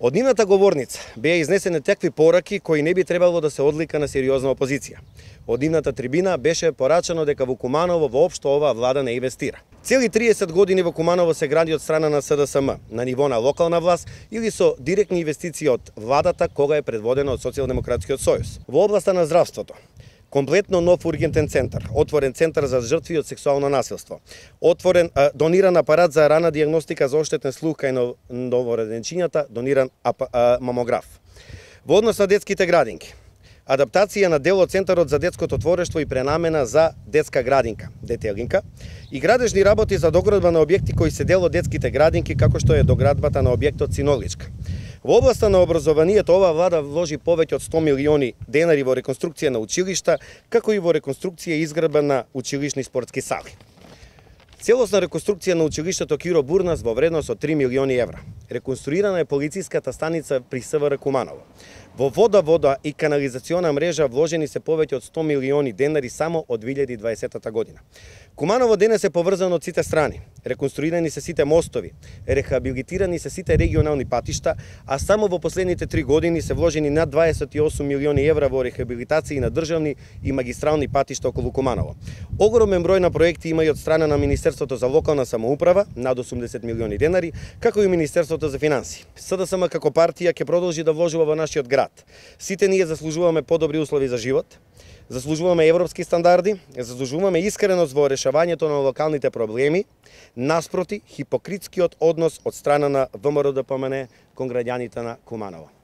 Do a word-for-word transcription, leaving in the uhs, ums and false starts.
Од нивната говорница беа изнесени такви пораки кои не би требало да се одлика на сериозна опозиција. Од нивната трибина беше порачано дека во Куманово воопшто оваа влада не инвестира. Цели триесет години во Куманово се гради од страна на С Д С М на ниво на локална власт или со директни инвестиции од владата кога е предводена од Социјалдемократскиот сојуз. Во областа на здравството комплетно нов ургентен центар, отворен центар за жртви од сексуално насилство, отворен а, дониран апарат за рана диагностика за оштетен слух кај новороденчињата, дониран апа, а, мамограф. Во однос на детските градинки, адаптација на дел од Центарот за детското творештво и пренамена за детска градинка, детелинка, и градежни работи за доградба на објекти кои се дел од детските градинки, како што е доградбата на објектот Синоличка. Во областа на образованието оваа влада вложи повеќе од сто милиони денари во реконструкција на училишта, како и во реконструкција и изградба на училишни спортски сали. Целосна реконструкција на училиштето Киро Бурнас во вредност од три милиони евра. Реконструирана е полициската станица при С В Р Куманово. Во вода, вода и канализациона мрежа вложени се повеќе од сто милиони денари само од две илјади и дваесета година. Куманово денес е поврзано од сите страни. Реконструирани се сите мостови, рехабилитирани се сите регионални патишта, а само во последните три години се вложени над дваесет и осум милиони евра во рехабилитација на државни и магистрални патишта околу Куманово. Огромен број на проекти има и од страна на Министерството за локална самоуправа, над осумдесет милиони денари, како и Министерството за финансии. С Д С М како партија ќе продолжи да вложува во нашиот град. Сите ние заслужуваме подобри услови за живот, заслужуваме европски стандарди, заслужуваме искреност во решавањето на локалните проблеми, наспроти хипокритскиот однос од страна на В М Р Д П М Н кон граѓаните на Куманово.